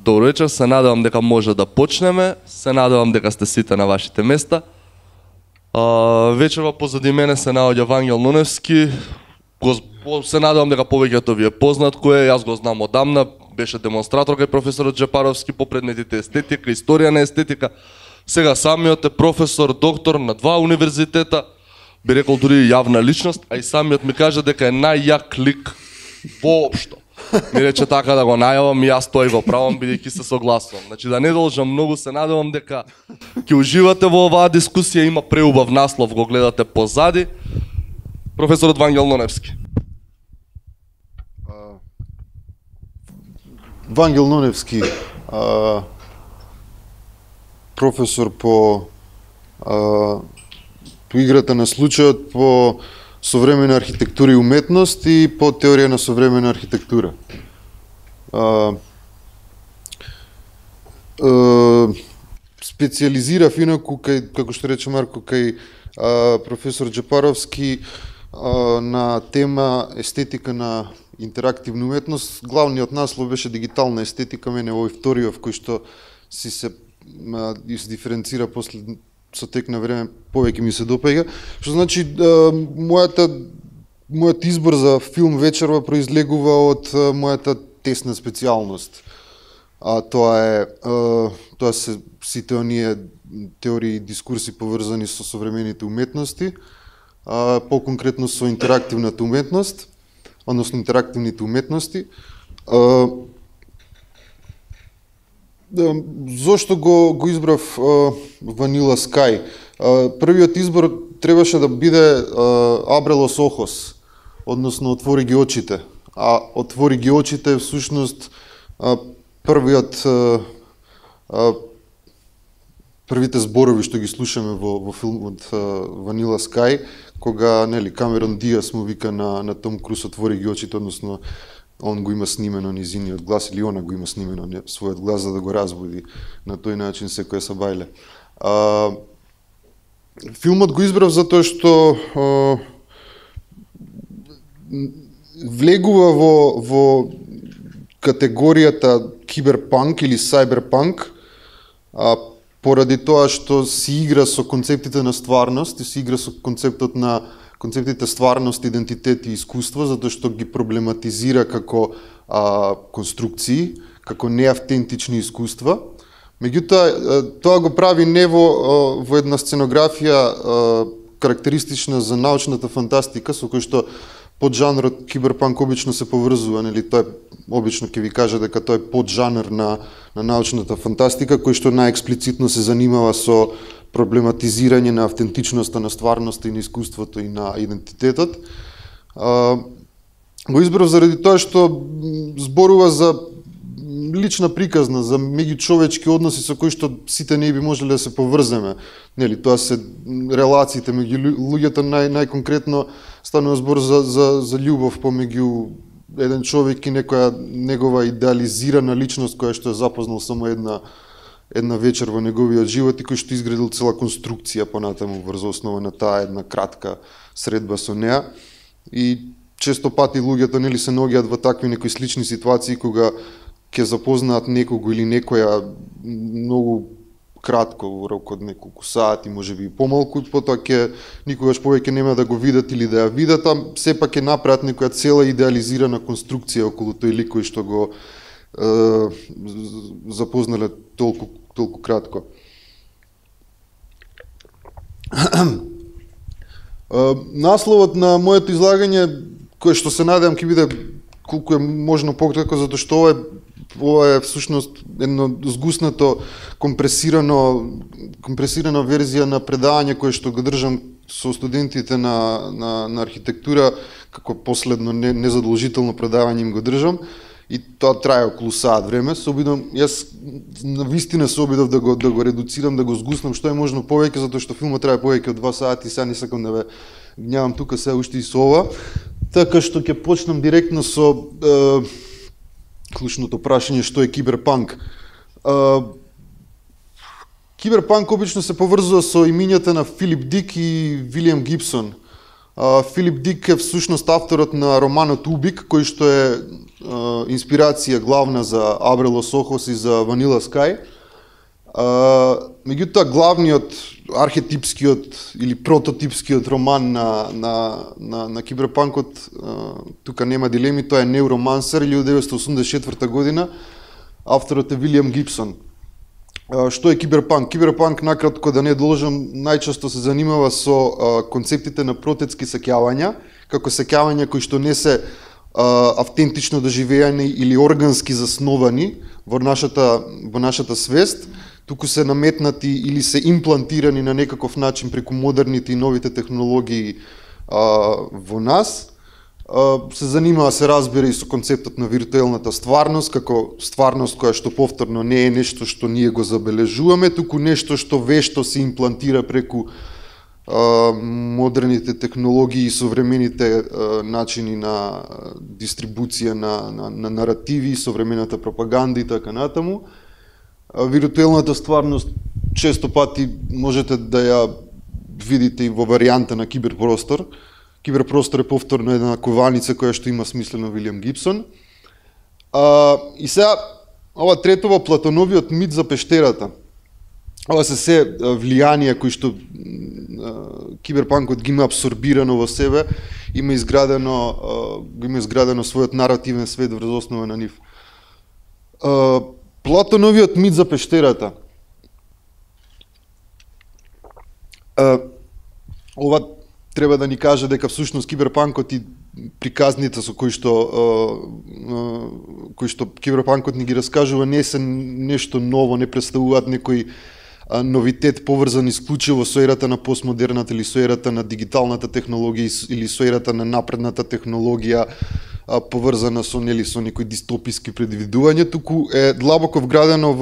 Добро вечер, се надевам дека може да почнеме, се надевам дека сте сите на вашите места. Вечерва позади мене се наоѓа Вангел Ноневски, се надевам дека повеќето ви е познат кој е, јас го знам одамна, беше демонстратор кај професорот Джепаровски по предметите естетика, историја на естетика, сега самиот е професор, доктор на 2 универзитета, би рекол дури јавна личност, а и самиот ми кажа дека е најјак лик воопшто. Ми рече така да го најавам и јас тој го правам бидејќи се согласувам. Значи да не должам многу, се надевам дека ќе уживате во оваа дискусија, има преубав наслов, го гледате позади. Професорот Вангел Ноневски. Вангел Ноневски, професор по играта на случајот, по современа архитектура и уметност и по теорија на современа архитектура. Специализирав инаку кај, како што рече Марко, кај професор Джепаровски на тема естетика на интерактивна уметност. Главниот наслов беше дигитална естетика, мене овој вториот кој што си се диференцира после со тек на време повеќе ми се допаѓа. Што значи мојот избор за филм вечерва произлегува од мојата тесна специјалност. Тоа се сите оние теории и дискурси поврзани со современите уметности, по-конкретно со интерактивната уметност, односно интерактивните уметности. Зошто го избрав Vanilla Sky? Првиот избор требаше да биде Абрелос Охос, односно Отвори ги очите. А Отвори ги очите е всушност првите зборови што ги слушаме во филмот Vanilla Sky, кога Камерон Диас му вика на Том Круз Отвори ги очите, односно он го има снимено низиниот глас или она го има снимено својот глас за да го разбуди на тој начин секоја сабајле. Филмот го избрав затоа што влегува во категоријата киберпанк или сайберпанк, поради тоа што си игра со концептите на стварност и си игра со концептите стварност, идентитет и искуство, затоа што ги проблематизира како конструкции, како неавтентични искуства. Меѓутоа, тоа го прави не во една сценографија карактеристична за научната фантастика, со кој што поджанрот киберпанк обично се поврзува, тој обично ќе ви каже дека тој е поджанр на научната фантастика, кој што најексплицитно се занимава со проблематизирање на автентичноста, на стварноста и на искуството и на идентитетот. Го избрав заради тоа што зборува за лична приказна, за меѓучовечки односи со кои што сите не би можеле да се поврземе. Тоа се релациите меѓу луѓето, најконкретно станува збор за љубов помеѓу еден човек и некоја негова идеализирана личност која што е запознал само една вечер во неговиот живот и кој што изградил цела конструкција понатаму врз основа на таа една кратка средба со неа. И често пати луѓето се наоѓаат во такви некои слични ситуации кога ќе запознаат некого или некоја многу кратко, во рок од неколку сати, можеби и помалку, и потоа ќе никогаш повеќе нема да го видат или да ја видат, а сепак ќе направат некоја цела идеализирана конструкција околу тој лик кој што го запознале толку кратко. Насловот на моето излагање, кој што се надевам ќе биде колку е можно пократко, затоа што ова е всушност едно згуснато, компресирана верзија на предавање кое што го држам со студентите на архитектура, како последно незадолжително предавање им го држам. И тоа трае околу саат време. Јас навистина се обидов да го редуцирам, да го згуснам што е можно повеќе, затоа што филмот трае повеќе од 2 сати, сега не сакам да ве гневам тука се уште и со ова. Така што ќе почнам директно со клучното прашање што е киберпанк. Киберпанк обично се поврзува со имињата на Филип Дик и Вилијам Гибсон. Филип Дик е всушност авторот на романот Убик, кој што е инспирација главна за Абрелос Охос и за Vanilla Sky. Меѓутоа главниот, архетипскиот или прототипскиот роман на киберпанкот, тука нема дилеми, тоа е Neuromancer, 1984 година, авторот е Вилијам Гибсон. Што е киберпанк? Киберпанк, накратко да не должам, најчесто се занимава со концептите на протетски сеќавања, како сеќавања кои што не се автентично доживеани или органски засновани во нашата свест, туку се наметнати или се имплантирани на некаков начин преку модерните и новите технологии во нас. Се занимава, се разбира, и со концептот на виртуелната стварност, како стварност која што повторно не е нешто што ние го забележуваме, туку нешто што вешто се имплантира преку модерните технологии и современите начини на дистрибуција на наративи, современата пропаганда и така натаму. Виртуелната стварност често пати можете да ја видите и во варијанта на киберпростор. Киберпростор е повторно една кованица која што има смислено Вилијам Гибсон. И сега, ова третово, Платоновиот мит за пештерата. Ова се влијанија кои што киберпанкот ги има абсорбирано во себе, има изградено својот наративен свет врз основа на нив. Платоновиот мит за пештерата. Ова треба да ни каже дека всушност киберпанкот и приказните со кои што киберпанкот ни ги раскажува не се нешто ново, не представуваат некој новитет поврзан исклучиво со ерата на постмодерната или со ерата на дигиталната технологија или со ерата на напредната технологија поврзана со некои дистописки предвидувања, туку е длабоко вградено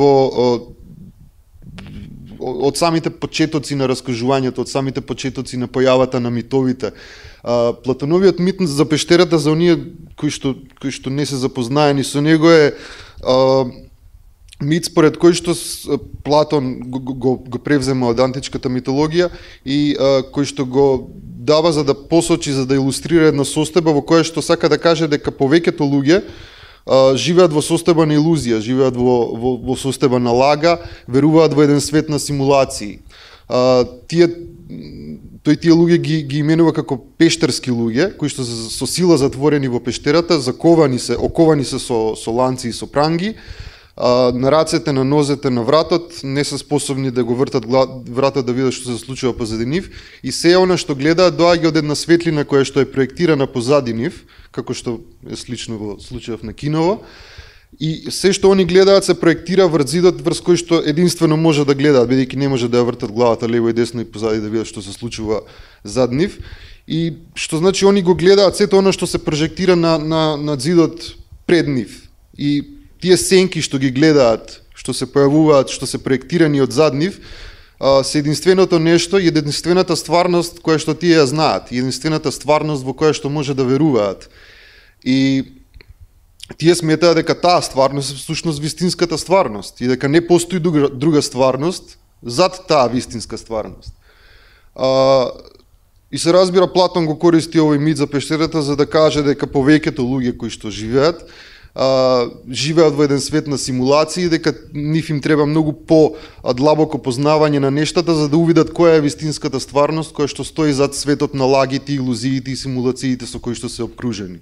од самите почетоци на раскажувањето, од самите почетоци на појавата на митовите. Платоновиот мит за пештерата, за оние кои што не се запознаени со него, е мит според кој што Платон го превзема од античката митологија и кој што го дава за да посочи, за да илустрира една состојба во која што сака да каже дека повеќето луѓе живеат во состојба на илузија, живеат во состојба на лага, веруваат во еден свет на симулации. Тој тие луѓе ги именува како пештерски луѓе, кои што се со сила затворени во пештерата, оковани се со ланци и со пранги, на рацете, на нозете, на вратот, не се способни да го вртат вратот да видат што се случува позади нив, и се она што гледаат доаѓа од една светлина која што е проектирана позади нив, како што е слично во случајов на киново, и се што они гледаат се проектира врз зидот врз кој што единствено може да гледаат, бидејќи не може да ја вртат главата лево и десно и позади да видат што се случува зад нив, и што значи они го гледаат сето она што се прожектира на зидот пред нив. И тие сенки што ги гледаат, што се појавуваат, што се проектирани од зад нив, се единственото нешто, единствената стварност која што тие ја знаат, единствената стварност во која што може да веруваат. И тие сметаат дека таа стварност е всушност вистинската стварност и дека не постои друга стварност зад таа вистинска стварност. И се разбира, Платон го користи овој мит за пештерата за да каже дека повеќето луѓе кои што живеат во еден свет на симулации, дека нив им треба многу по-длабоко познавање на нештата за да увидат која е вистинската стварност која што стои зад светот на лагите, илузиите и симулациите со кои што се обкружени.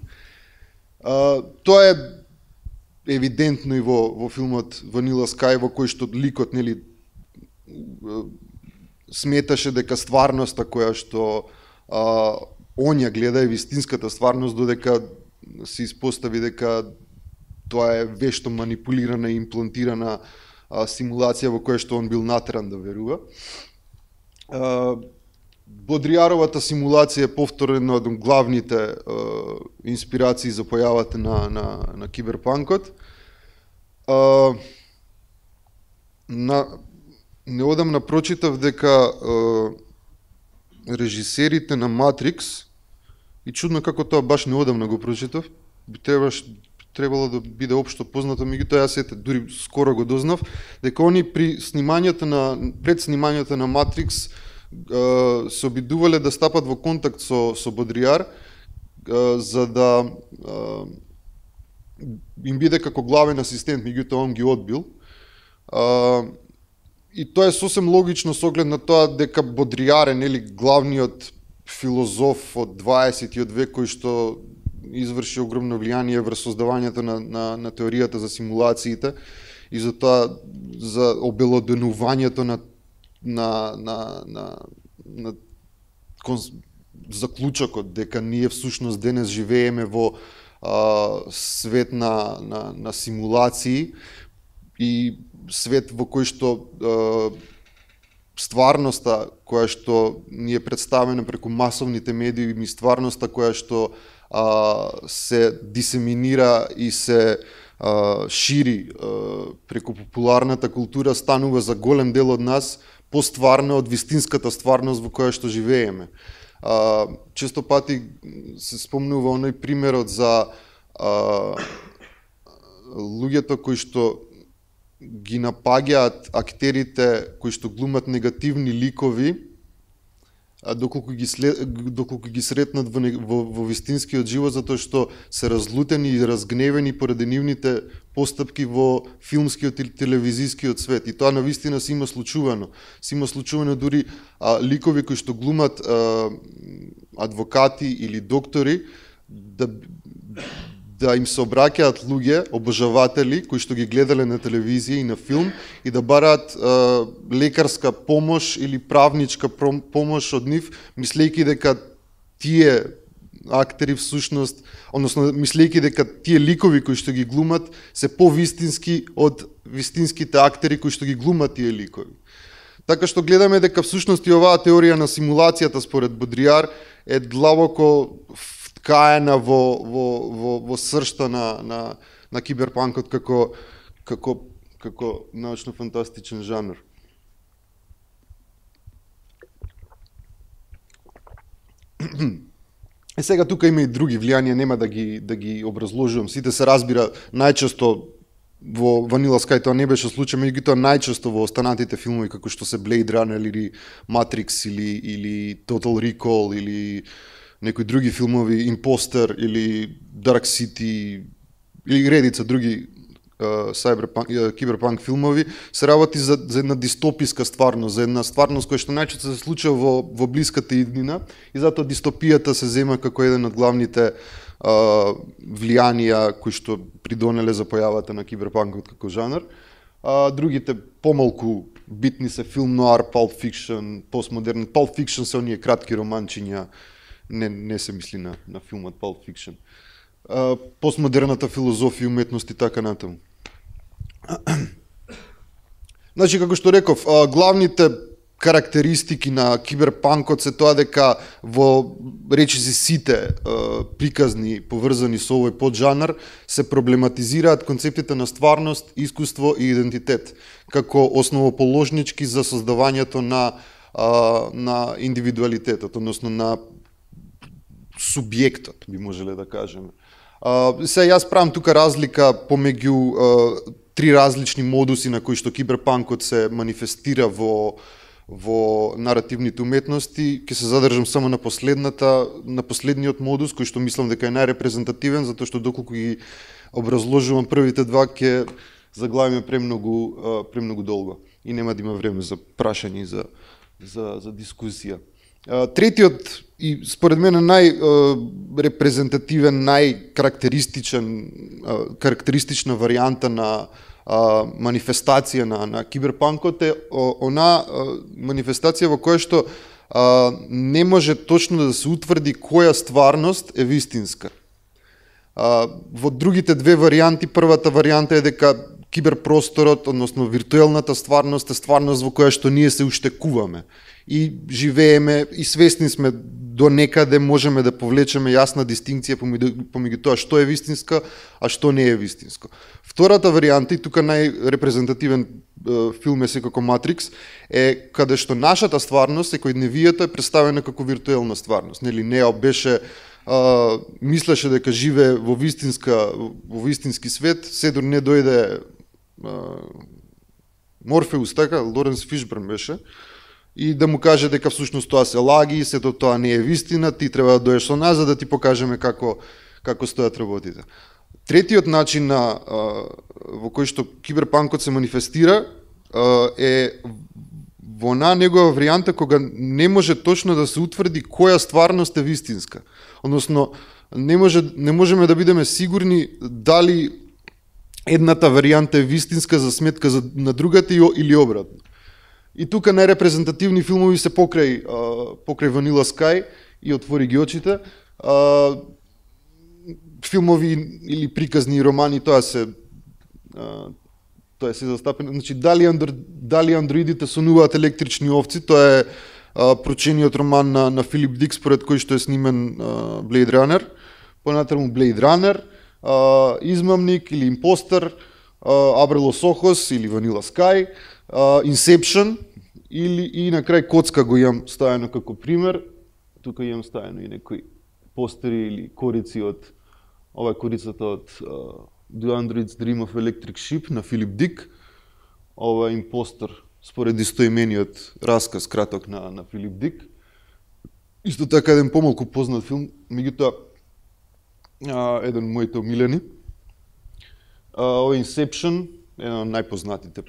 Тоа е евидентно и во филмот Vanilla Sky, во кој што ликот сметаше дека стварноста која што он ја гледа е вистинската стварност, додека се испостави дека тоа е вешто манипулирана и имплантирана симулација во која што он бил натеран да верува. Бодријаровата симулација е повторно од главните инспирации за појавата на киберпанкот. Неодамна прочитав дека режисерите на Матрикс, и чудно како тоа баш неодамна го прочитав, требало да биде општо познато, меѓутоа јас дури скоро го дознав, дека они пред снимањето на Матрикс се обидувале да стапат во контакт со Бодријар за да им биде како главен асистент, меѓутоа он ги одбил. И тоа е сосем логично со оглед на тоа дека Бодрияр е, нели, главниот филозоф од 20-тиот век кој што изврши огромно влијание врз создавањето на теоријата за симулациите и за тоа за обелоденувањето на заклучокот дека ние всушност денес живееме во свет на симулации и свет во кој што стварноста која што ни е представена преку масовните медии и стварноста која што се дисеминира и се шири преку популарната култура станува за голем дел од нас постварна од вистинската стварност во која што живееме. Често пати се спомнува оној примерот за луѓето кои што ги напаѓаат актерите кои што глумат негативни ликови, доколку ги сретнат во вистинскиот живот, затоа што се разлутени и разгневени поради нивните постапки во филмскиот или телевизискиот свет. И тоа навистина се има случувано. Се има случувано дури ликови кои што глумат адвокати или доктори, да им се обраќаат луѓе, обожаватели, кои што ги гледале на телевизија и на филм, и да бараат лекарска помош или правничка помош од нив, мислејќи дека тие актери всушност, односно мислејќи дека тие ликови кои што ги глумат се повистински од вистинските актери кои што ги глумат тие ликови. Така што гледаме дека всушност и оваа теорија на симулацијата според Бодрияр е длабоко вткаена во сршта на киберпанкот како научно-фантастичен жанр. Сега тука има и други влијанија, нема да ги образложувам. Сите се разбира најчесто во Vanilla Sky тоа не беше случај, меѓутоа најчесто во останатите филмови како што се Blade Runner или Matrix или Total Recall или некои други филмови, Imposter или Dark City или редица други киберпанк филмови, се работи за една дистописка стварност, за една стварност која што најчесто се случува во блиската иднина и затоа дистопијата се зема како еден од главните влијанија кои што придонеле за појавата на киберпанкот како жанр. Другите помалку битни се филм ноар, Pulp Fiction, постмодерен. Pulp Fiction се оние кратки романчиња, не се мисли на филмот Pulp Fiction. Постмодерната филозофија, уметност и така натаму. Значи, како што реков, главните карактеристики на киберпанкот се тоа дека во речиси сите приказни поврзани со овој поджанр се проблематизираат концептите на стварност, искуство и идентитет како основоположнички за создавањето на индивидуалитетот, односно на субјектот, би можеле да кажеме. Се јас правам тука разлика помеѓу три различни модуси на кои што киберпанкот се манифестира во наративните уметности. Ќе се задржам само на последниот модус, кој што мислам дека е најрепрезентативен, затоа што доколку ги образложувам првите два, ќе заглавиме премногу долго и нема да има време за прашање и за дискусија. Третиот и според мене најрепрезентативен, карактеристична варијанта на манифестација на киберпанкот е она манифестација во која што не може точно да се утврди која стварност е вистинска. Во другите две варијанти, првата варијанта е дека киберпросторот, односно виртуелната стварност е стварност во која што ние се уштекуваме и живееме и свесни сме до некаде, можеме да повлечеме јасна дистинкција помеѓу тоа што е вистинска, а што не е вистинско. Втората варијанта, и тука најрепрезентативен филм е секако Matrix, е каде што нашата стварност, секојдневијата е представена како виртуелна стварност. Нели Нео беше мислеше дека живее во вистински свет, седор не дојде Морфеус, така, Лоренс Фишберн беше, и да му каже дека всушност тоа се лаги, сето тоа не е вистина, ти треба да доеш со нас за да ти покажеме како стојат работите. Третиот начин во кој што киберпанкот се манифестира е во негова варијанта кога не може точно да се утврди која стварност е вистинска. Односно, не можеме да бидеме сигурни дали едната варијанта е вистинска за сметка на другата или обратно. И тука најрепрезентативни филмови се покрај Vanilla Sky и Отвори ги очите. Филмови или приказни романи, тоа се застапено. Значи, дали андроидите сонуваат електрични овци, тоа е прочениот роман на Филип Дик, според кој што е снимен Blade Runner. Понатаму Blade Runner, Измамник или Импостер, Абрелос Охос или Vanilla Sky, Inception и на крај Коцка го имам ставено како пример. Тука имам ставено и некои постери или корици од ова е корицата од The Android's Dream of Electric Sheep на Филип Дик. Ова е Импостер според истоимениот расказ краток на Филип Дик. Исто така еден помалку познат филм, меѓутоа еден од моите омилени. Ова е Inception, еден од најпознатите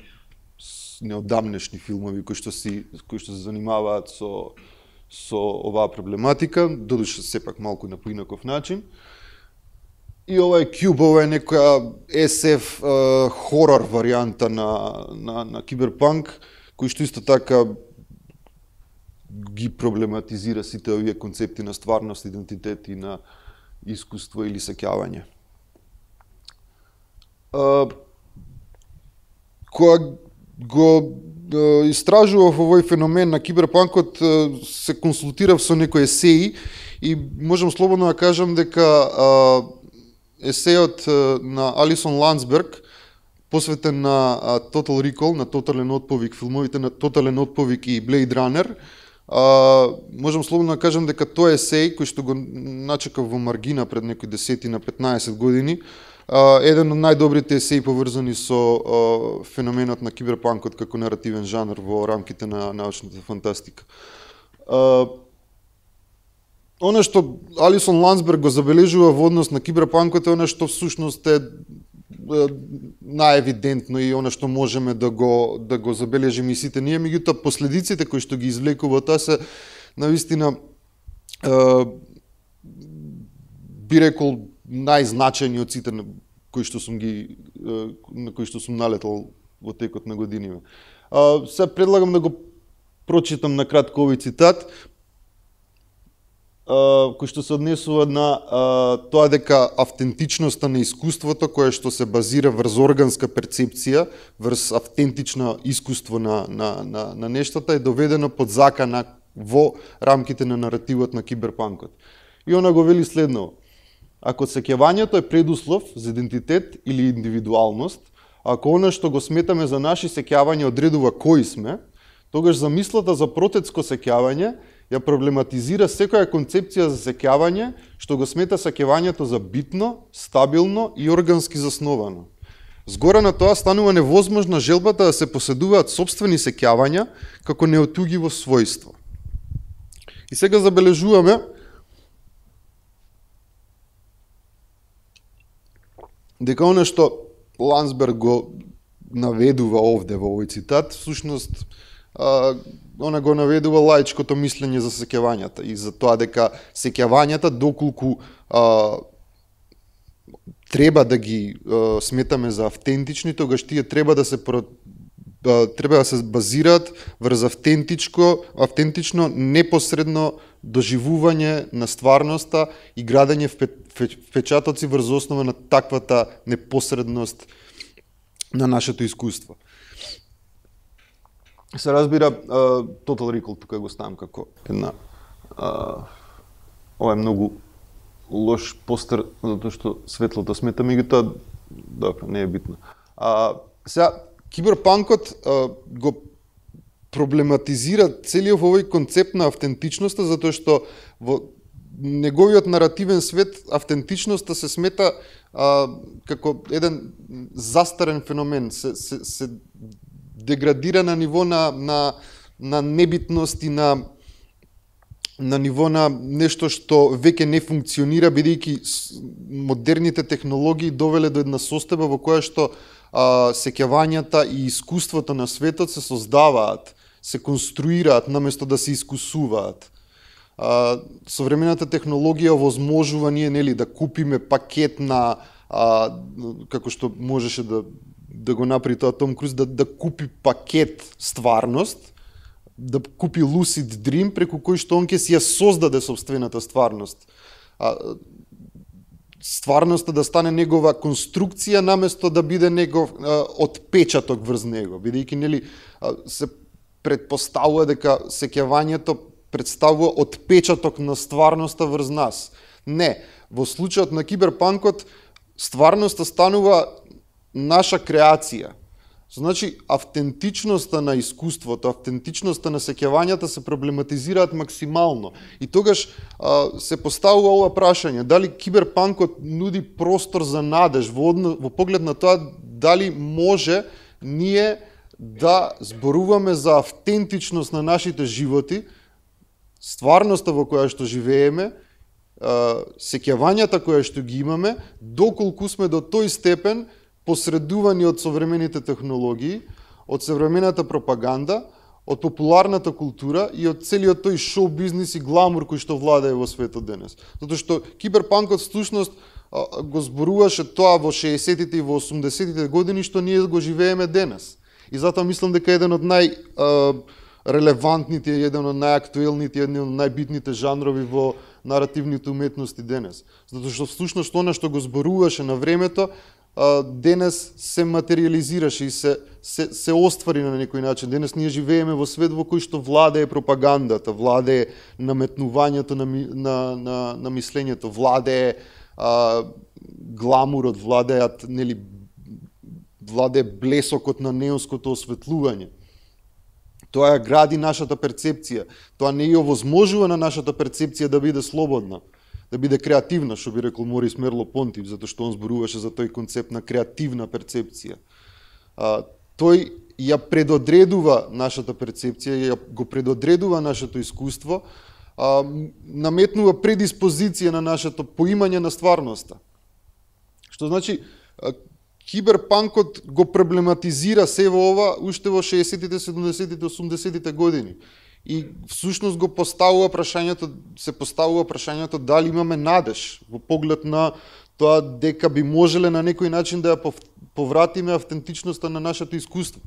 неодамнешни филмови кои што се занимаваат со оваа проблематика, додуше сепак малку на поинаков начин. И ова е Cube, ова е некоја SF хорор варијанта на киберпанк, кој што исто така ги проблематизира сите овие концепти на стварност, идентитет и на искуство или сеќавање. Кога го истражував овој феномен на киберпанкот, се консултирав со некои есеи и можам слободно да кажам дека есеот на Алисон Ландсберг, посветен на Total Recall, на Тотален отповик, филмовите на Тотален отповик и Blade Runner, можам слободно да кажам дека тој есеј, кој што го начекав во маргина пред некои 10-15 години, еден од најдобрите есеи поврзани со феноменот на киберпанкот како наративен жанр во рамките на научната фантастика. Она што Алисон Ландсберг го забележува во однос на киберпанкот е она што всушност е најевидентно и она што можеме да го забележиме и сите ние, меѓутоа последиците кои што ги извлекува тоа се навистина би рекол најзначајни од сите на кои што сум налетал во текот на годиниве. Се предлагам да го прочитам на кратко овој цитат, кој што се однесува на тоа дека автентичноста на искуството, кое што се базира врз органска перцепција, врз автентично искуство на нештата, е доведено под закана во рамките на наративот на киберпанкот. И она го вели следново: ако сеќавањето е предуслов за идентитет или индивидуалност, ако она што го сметаме за наши сеќавања одредува кои сме, тогаш замислата за протецко сеќавање ја проблематизира секоја концепција за сеќавање што го смета сеќавањето за битно, стабилно и органски засновано. Згора на тоа станува невозможна желбата да се поседуваат сопствени сеќавања како неотугиво својство. И сега забележуваме дека она што Ландсберг го наведува овде во овој цитат, всушност она го наведува лаичкото мислење за сеќавањата и за тоа дека сеќавањата доколку треба да ги сметаме за автентични, тогаш тие треба да се базираат врз автентично непосредно доживување на стварноста и градење впечатоци врз основа на таквата непосредност на нашето искуство. Се разбира, Total Recall тука го ставам како една ова е многу лош постер затоа што светлото смета, меѓутоа добро, не е битно. Сега киберпанкот го проблематизира целиот овој концепт на автентичноста, затоа што во неговиот наративен свет автентичноста се смета како еден застарен феномен, се деградира на ниво на небитност и на на ниво на нешто што веќе не функционира, бидејќи модерните технологии довеле до една состојба во која што сеќавањата и искуството на светот се создаваат, се конструираат наместо да се искусуваат. Современата технологија овозможува ние, нели, да купиме пакет на како што можеше да го направи тоа Том Круз, да купи пакет стварност, да купи lucid dream преку кој што он ќе си ја создаде собствената стварност. Стварноста да стане негова конструкција наместо да биде негов отпечаток врз него, бидејќи, нели, се предпоставува дека сеќавањето представува отпечаток на стварноста врз нас. Не, во случајот на киберпанкот стварноста станува наша креација. Значи, автентичноста на искуството, автентичноста на сеќавањата се проблематизираат максимално. И тогаш се поставува ова прашање, дали киберпанкот нуди простор за надеж во поглед на тоа дали може ние да зборуваме за автентичност на нашите животи, стварноста во која што живееме, сеќавањата која што ги имаме, доколку сме до тој степен посредувани од современите технологии, од современата пропаганда, од популарната култура и од целиот тој шоу бизнис и гламур кој што владее во светот денес. Затоа што киберпанкот всушност го зборуваше тоа во 60-тите и во 80-тите години што ние го живееме денес. И затоа мислам дека еден од најрелевантните, еден од најактуелните, еден од најбитните жанрови во наративните уметности денес. Затоа што всушност она што го зборуваше на времето денес се материализираше и се оствари на некој начин. Денес ние живееме во свет во кој што владее пропагандата, владее наметнувањето на мислењето, владее гламурот, владее блесокот на неонското осветлување. Тоа ја гради нашата перцепција. Тоа не ја овозможува на нашата перцепција да биде слободна, да биде креативна, што би рекол Морис Мерло-Понти, затоа што он зборуваше за тој концепт на креативна перцепција. Тој ја предодредува нашата перцепција, го предодредува нашето искуство, наметнува предиспозиција на нашето поимање на стварноста. Што значи, киберпанкот го проблематизира се во ова уште во 60-тите, 70-тите, 80-тите години. И всушност се поставува прашањето дали имаме надеж во поглед на тоа дека би можеле на некој начин да ја повратиме автентичноста на нашето искуство.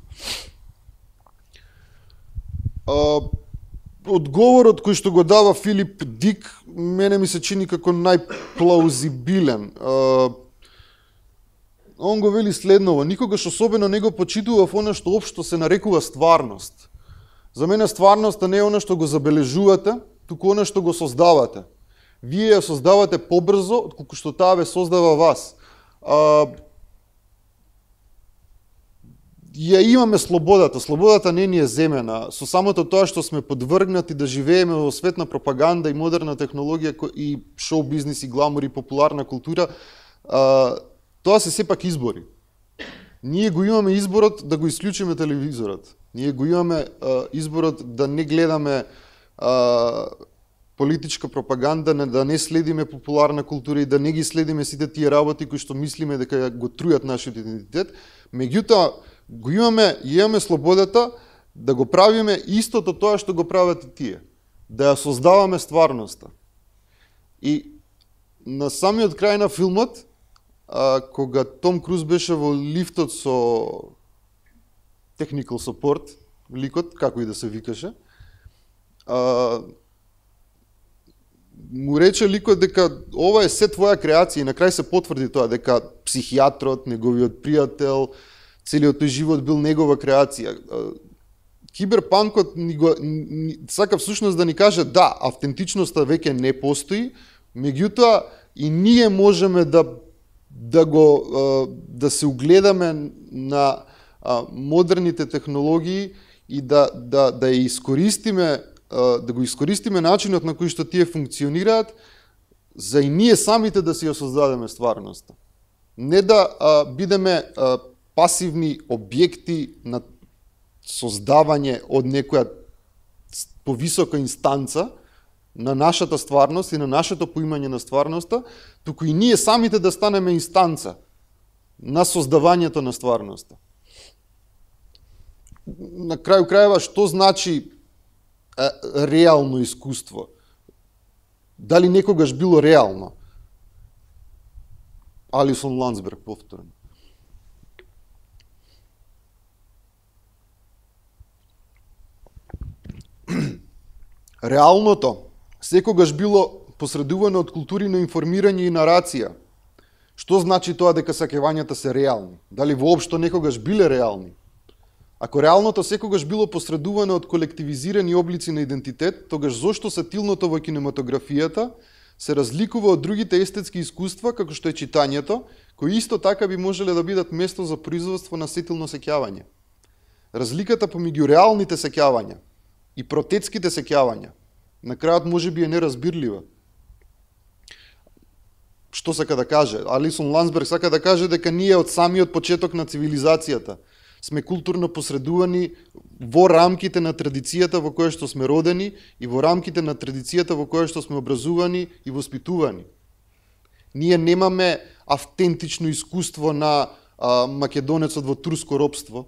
Одговорот кој што го дава Филип Дик мене ми се чини како најплаузибилен. Он го вели следново: никогаш особено не го почитував она што општо се нарекува стварност. За мене стварноста не е она што го забележувате, туку она што го создавате. Вие ја создавате побрзо отколку што таа ве создава вас. Ја имаме слободата. Слободата не ни е земена. Со самото тоа што сме подвргнати да живееме во свет на пропаганда и модерна технологија и шоу бизнис и гламур и популарна култура, тоа се сепак избори. Ние го имаме изборот да го исклучиме телевизорот. Ние го имаме изборот да не гледаме политичка пропаганда, да не следиме популарна култура и да не ги следиме сите тие работи кои што мислиме дека го трујат нашиот идентитет. Меѓутоа, имаме слободата да го правиме истото тоа што го прават и тие. Да ја создаваме стварноста. И на самиот крај на филмот, кога Том Круз беше во лифтот со technical support, ликот, како и да се викаше, му рече ликот дека ова е се твоја креација и на крај се потврди тоа, дека психијатрот, неговиот пријател, целиот тој живот бил негова креација. Киберпанкот сака всушност да ни каже да, автентичноста веќе не постои, меѓутоа и ние можеме да се угледаме на модерните технологии и да ја искористиме, да го искористиме начинот на кој што тие функционираат за и ние самите да си ја создадеме стварноста. Не да бидеме пасивни објекти на создавање од некоја повисока инстанца, на нашата стварност и на нашето поимање на стварноста, туку и ние самите да станеме инстанца на создавањето на стварноста. На крају крајева, што значи реално искуство? Дали некогаш било реално? Алисон Ландсберг, повторно. Реалното секогаш било посредувано од култури на информирање и нарација. Што значи тоа дека сакевањата се реални? Дали воопшто некогаш биле реални? Ако реалното секогаш било посредувано од колективизирани облици на идентитет, тогаш зошто сатилното во кинематографијата се разликува од другите естетски искуства, како што е читањето, кои исто така би можеле да бидат место за производство на сетилно сеќавање. Разликата помеѓу реалните сеќавања и протетските сеќавања на крајот можеби е неразбирлива. Што сака да каже? Алисон Ландсберг сака да каже дека ние од самиот почеток на цивилизацијата сме културно посредувани во рамките на традицијата во која што сме родени и во рамките на традицијата во која што сме образувани и воспитувани. Ние немаме автентично искуство на македонецот во турско робство.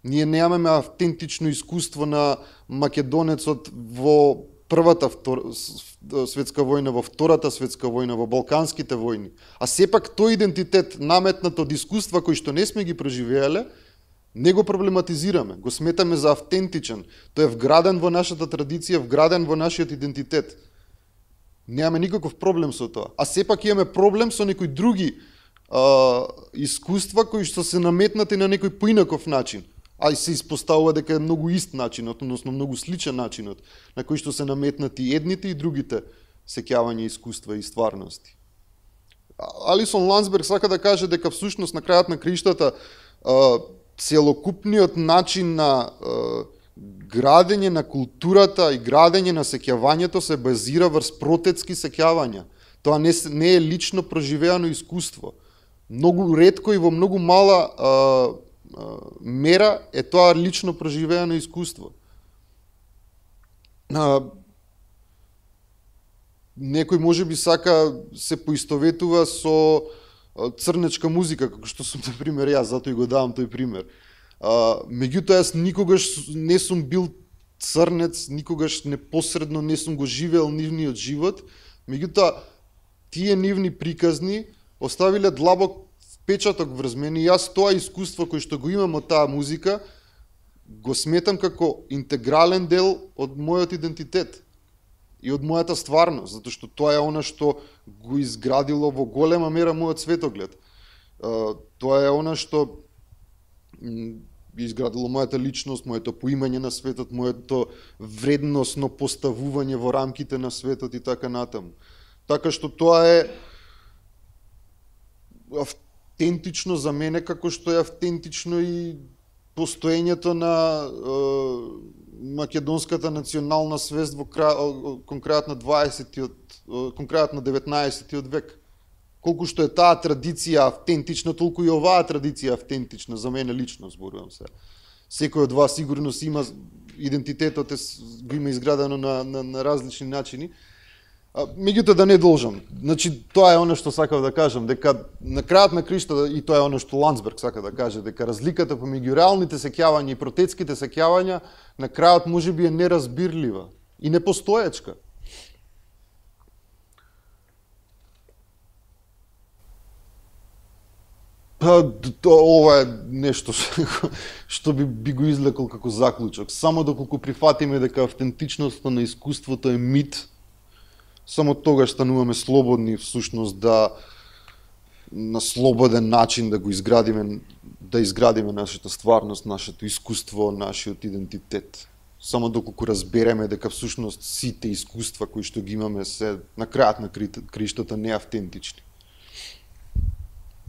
Ние немаме автентично искуство на македонецот во Првата светска војна, во Втората светска војна, во Балканските војни. А сепак тој идентитет наметнат од искуства кои што не сме ги преживеале, не го проблематизираме, го сметаме за автентичен. Тој е вграден во нашата традиција, вграден во нашиот идентитет. Немаме никаков проблем со тоа. А сепак имаме проблем со некои други искуства кои што се наметнати на некој поинаков начин. А и се испоставува дека е многу ист начинот, односно многу сличен начинот на кој што се наметнати едните и другите сеќавања, искуства и стварности. Алисон Ландсберг сака да каже дека всушност на крајот на криштата целокупниот начин на градење на културата и градење на сеќавањето се базира врз протетски сеќавања. Тоа не е лично проживеано искуство. Многу ретко и во многу мала мера е тоа лично проживеано искуство. Некој можеби сака се поистоветува со црнечка музика, како што сум, например, јас, затоа и го давам тој пример. Меѓутоа, јас никогаш не сум бил црнец, никогаш непосредно не сум го живеел нивниот живот, меѓутоа, тие нивни приказни оставиле длабок впечаток врз мене и јас тоа искуство кој што го имам од таа музика го сметам како интегрален дел од мојот идентитет и од мојата стварност, затоа што тоа е она што го изградило во голема мера мојот светоглед. Тоа е она што изградило мојата личност, моето поимање на светот, моето вредносно поставување во рамките на светот и така натаму. Така што тоа е автентично за мене, како што е автентично и постоењето на македонската национална свест кон крајот на 19 век. Колку што е таа традиција автентична, толку и оваа традиција автентична, за мене лично зборувам се. Секој од вас сигурно си има идентитетот, го има изградено на различни начини. Меѓутоа да не должам. Значи, тоа е оно што сакав да кажам, дека на крајот на криштата, и тоа е оно што Ландсберг сака да каже, дека разликата помеѓу реалните сеќавања и протетските сеќавања на крајот можеби е неразбирлива и непостоечка. Ова е нешто што би го излекол како заклучок. Само доколку прифатиме дека автентичноста на искуството е мит, само тогаш стануваме слободни всушност да на слободен начин да го изградиме нашата стварност, нашето искуство, нашиот идентитет. Само доколку разбереме дека всушност сите искуства кои што ги имаме се на крајот на криштата неавтентични.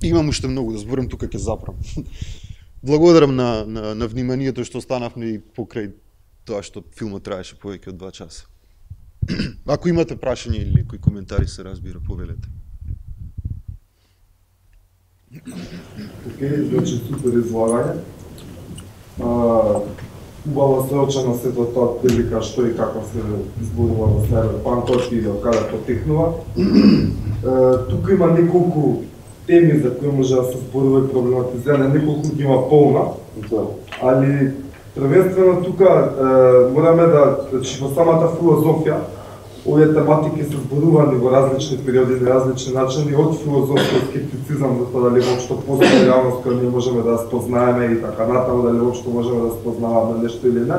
Имам уште многу да зборам, тука ќе запрам. Благодарам на вниманието што останавме и покрај тоа што филмот траеше повеќе од 2 часа. Ако имате прашања или некои коментари, се разбира, повелете. Океј, значи супер излагање. убаво се очено сето тоа прилика што и како се зборува во Cyberpunk и од каде потекнува. Тука има неколку теми за кои може да се зборува и проблематизира, неколку ги има полна, али првенствено тука мораме да, значи во самата филозофија, овие тематики се зборувани во различни периоди на различни начини, од филозофски скептицизам за тоа дали воопшто постои реалност која ние можеме да спознаеме и така натаму, дали воопшто можеме да спознаваме нешто или не,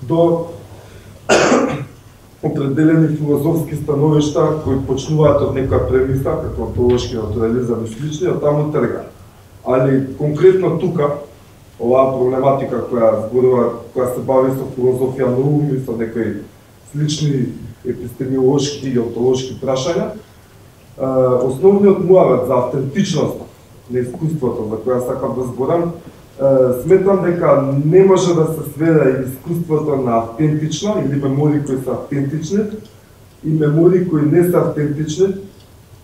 до определени филозофски становишта кои почнуваат од некоја премиса, како онтологски натурализам и слични, од таму трга. Али конкретно тука, оваа проблематика која зборува, која се бави со филозофија на ум и со некои слични епистемиолошки и онтолошки прашања, основниот муавет за автентичност на искуството за која сакам да зборам, сметам дека не може да се сведе искуството на автентично или мемории кои се автентични и мемории кои не се автентични,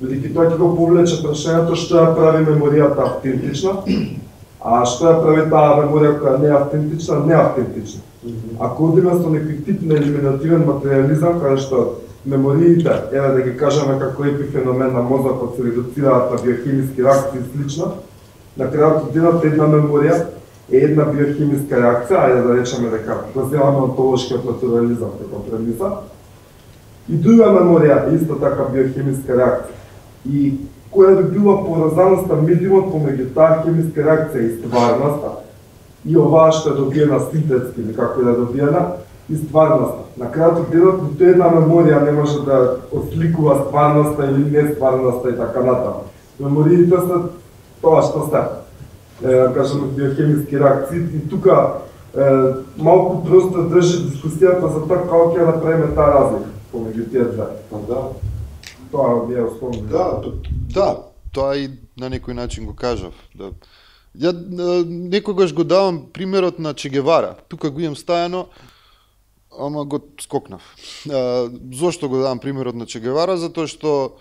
бидејќи тоа ќе го повлече прашањето што ја прави меморијата автентична, а што ја прави таа меморија која не е автентична, неавтентична. Ако одиме со некој тип на елиминативен материализам, каде што мемориите, еве да ги кажеме како епифеномен на мозокот, се редуцираат на биохемиски реакции и слично, на крајот од денот една меморија е една биохемиска реакција, ајде да речеме дека го земаме онтолошкиот натурализам како премиса, и друга меморија е исто така биохемиска реакција. И која би била поврзаноста медиумот помеѓу таа хемиска реакција и стварноста, и оваа што е добиена синтетски, или како е добиена, и стварноста. На крајот од денот, ниту една меморија не може да осликува стварноста или не стварноста и така натаму. Мемориите се тоа што се, кажем, биохемиски реакции, и тука малку просто држи дискусијата за тоа како ќе направиме таа разлика помеѓу тие две. Тоа ми е основно. Да, тоа и на некој начин го кажав. Ја некогаш го давам примерот на Че Гевара. Тука го имам стајано, ама го скокнав. Зошто го давам примерот на Че Гевара? Затоа што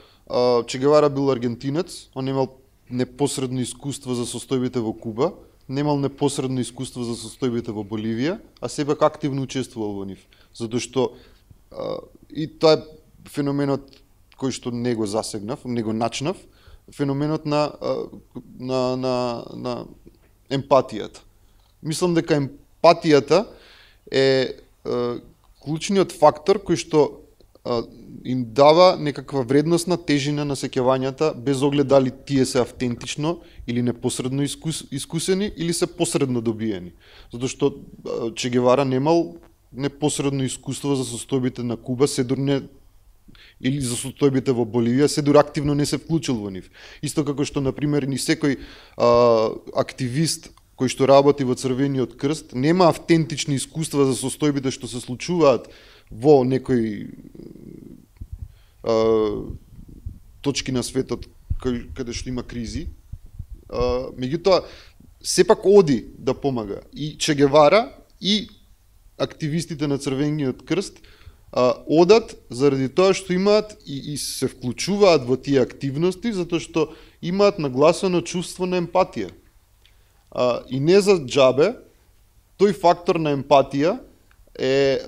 Че Гевара бил аргентинец, он имал непосредно искуство за состојбите во Куба, немал непосредно искуство за состојбите во Боливија, а сепак активно учествувал во нив. Затоа што и тоа е феноменот кој што не го засегнав, не го начнав, феноменот на емпатијата. Мислам дека емпатијата е клучниот фактор кој што им дава некаква вредностна тежина на сеќавањата, без оглед дали тие се автентично или непосредно искусени или се посредно добиени. Затоа што Че Гевара немал непосредно искуство за состојбите на Куба, седор не или за состојбите во Боливија, седор активно не се вклучил во нив. Исто како што, например, ни секој активист кој што работи во Црвениот крст нема автентични искуства за состојбите што се случуваат во некои точки на светот каде што има кризи. Меѓутоа, сепак оди да помага. И Че Гевара и активистите на Црвениот крст одат заради тоа што имаат и се вклучуваат во тие активности, затоа што имаат нагласено чувство на емпатија. И не за џабе, тој фактор на емпатија е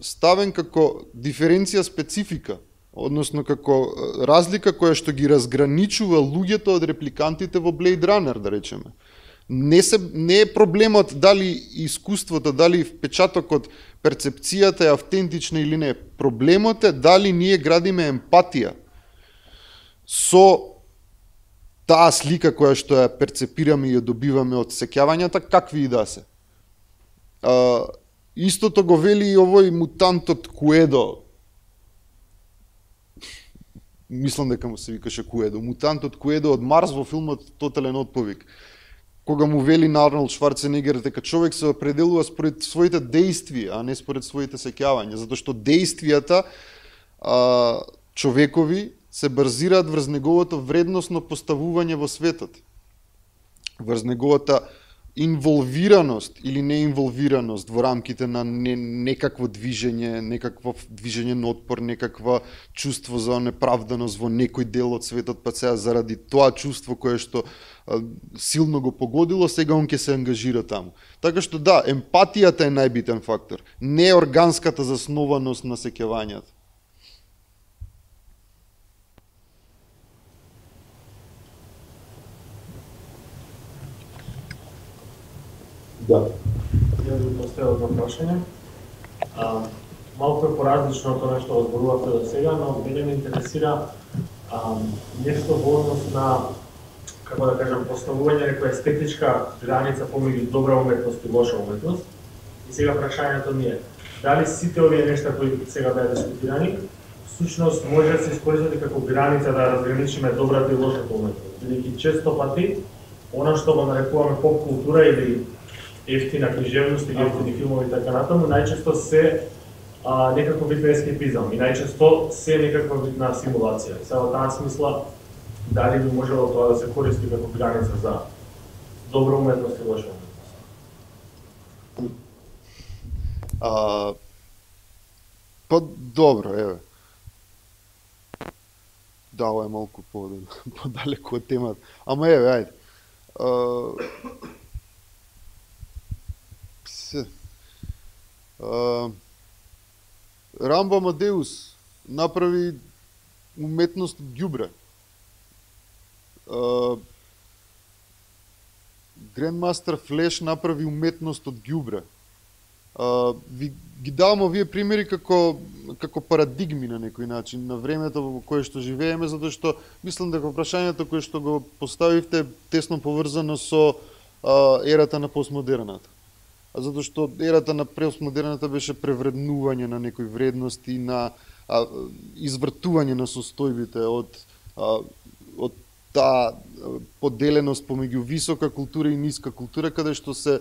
ставен како диференција специфика, односно како разлика која што ги разграничува луѓето од репликантите во Blade Runner, да речеме. Не е проблемот дали искуството, дали впечатокот, перцепцијата е автентична или не. Проблемот е дали ние градиме емпатија со таа слика која што ја перцепираме и ја добиваме од сеќавањата, какви и да се. Истото го вели и овој мутантот Куедо. Мислам дека му се викаше Куедо. Мутантот Куедо од Марс во филмот Тотален отповик. Кога му вели на Арнолд Шварценегер дека човек се определува според своите дејствија, а не според своите сеќавања, затоа што дејствијата човекови се базираат врз неговото вредносно поставување во светот. Врз неговата инволвираност или неинволвираност во рамките на некакво движење, на отпор, некаква чувство за неправданост во некој дел од светот, па сега заради тоа чувство кое што силно го погодило, сега он ќе се ангажира таму. Така што да, емпатијата е најбитен фактор, не органската заснованост на сеќавањето. Да. Ја ви поставил едно прашање. Малку е поразлично од тоа што го зборувавте до сега, но мене ме интересира нешто во однос на, како да кажам, поставување некоја естетичка граница помеѓу добра уметност и лоша уметност. И сега прашањето ми е, дали сите овие нешта кои сега беа дискутирани, всушност може да се искористат како граница да разграничиме добрата и лошата уметност. Бидејќи често пати, она што го нарекуваме поп култура или ефтина книжевност или ефтини филмови и така натаму, најчесто се некаков вид на ескепизам и најчесто се некаква вид на симулација. Сега во таа смисла, дали би можело тоа да се користи како граница за добра уметност и лоша уметност? Па добро, еве. Да, ова е малку подалеку од темата. Ама еве, ајде. Рамбо Амадеус направи уметност од ѓубре. Grandmaster Flash направи уметност од ѓубре. Ги давам овие примери како парадигми на некој начин на времето во кое што живееме, затоа што мислам дека прашањето кое што го поставивте тесно поврзано со ерата на постмодерната. Затоа што ерата на постмодерната беше превреднување на некои вредности, на извртување на состојбите од таа поделеност помеѓу висока култура и ниска култура, каде што се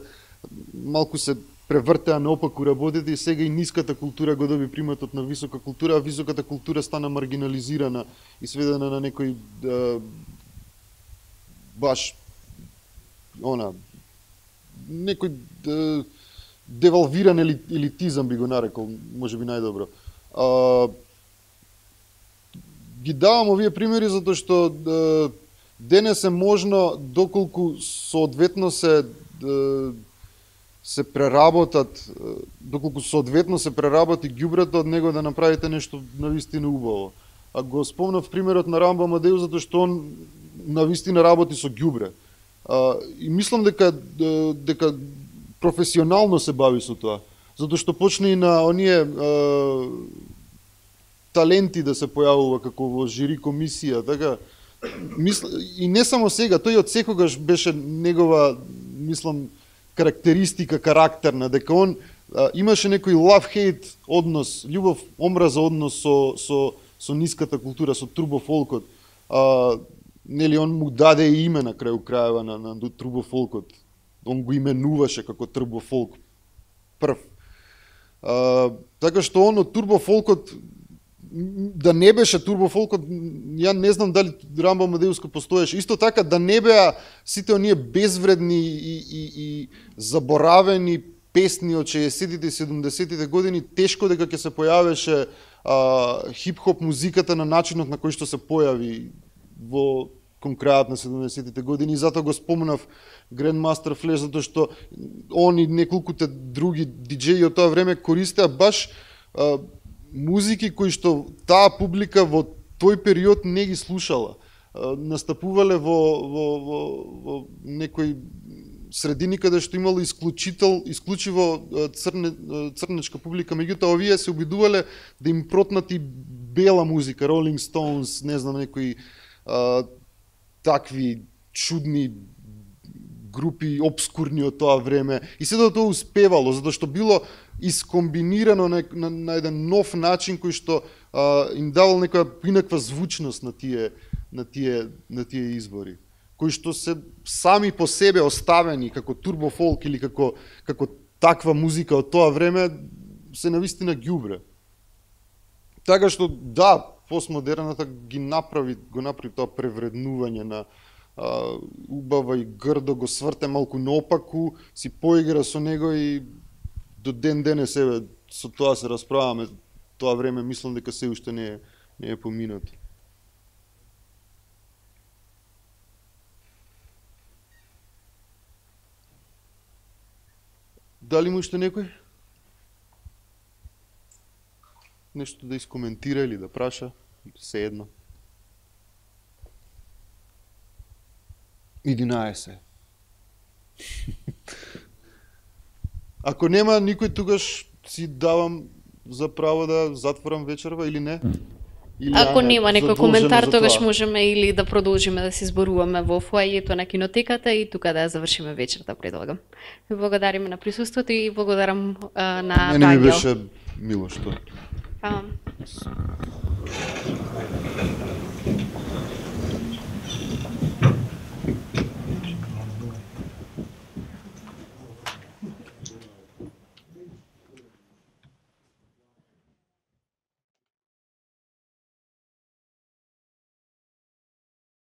малку се превртеа наопаку работите и сега и ниската култура го доби приматот на висока култура, а високата култура стана маргинализирана и сведена на некој баш некој девалвиран елитизам би го нарекол, можеби најдобро. Ги давам овие примери затоа што денес е можно, доколку соодветно се преработат, доколку соодветно се преработи ѓубрето од него да направите нешто навистина убаво. А го спомнав примерот на Рамбо Амадеус затоа што он навистина работи со ѓубре. И мислам дека професионално се бави со тоа, затоа што почна и на оние таленти да се појавува како во жири комисија, така и не само сега, тој од секогаш беше негова, мислам, карактеристика карактерна, дека он имаше некој love-hate однос, љубов омраза однос со ниската култура, со турбофолкот. Нели он му даде име на крају крајава на турбофолкот. Он го именуваше како турбофолк прв. Така што он од турбофолкот, да не беше турбофолкот, ја не знам дали Рамбо Амадеус постоеше. Исто така да не беа сите оние безвредни и заборавени песни од 60-тите и 70-тите години, тешко дека ќе се појавеше хип-хоп музиката на начинот на кој што се појави во кон крајот на 70-тите години. И затоа го спомнав Grandmaster Flash, затоа што он и неколкуте други диџеи од тоа време користеа баш музики кои што таа публика во тој период не ги слушала. Настапувале во некои средини каде што имало исклучиво црнечка публика, меѓутоа овие се обидувале да им протнати бела музика, Rolling Stones, не знам, некои такви чудни групи, обскурни од тоа време. И се тоа успевало, затоа што било искомбинирано на еден нов начин кој што им давал некоја инаква звучност на тие избори, кои што се сами по себе оставени како турбофолк или како таква музика од тоа време се навистина ѓубре. Така што да, постмодерната го направи тоа превреднување убава и грдо го сврте малку наопаку, си поигра со него и до ден денес еве со тоа се расправаме. Тоа време мислам дека се уште не е поминато. Дали му уште некој нешто да искоментира или да праша? Се едно. 11. Ако нема никој, тогаш си давам за право да затворам вечерва или не? Или Ако нема некој коментар, за тогаш тоа? можеме или да продолжиме да се зборуваме во фоајето на кинотеката и тука да ја завршиме вечерта, предлагам. Ви благодариме на присуството и благодарам на Мене ми Ангел. беше мило што. Фала.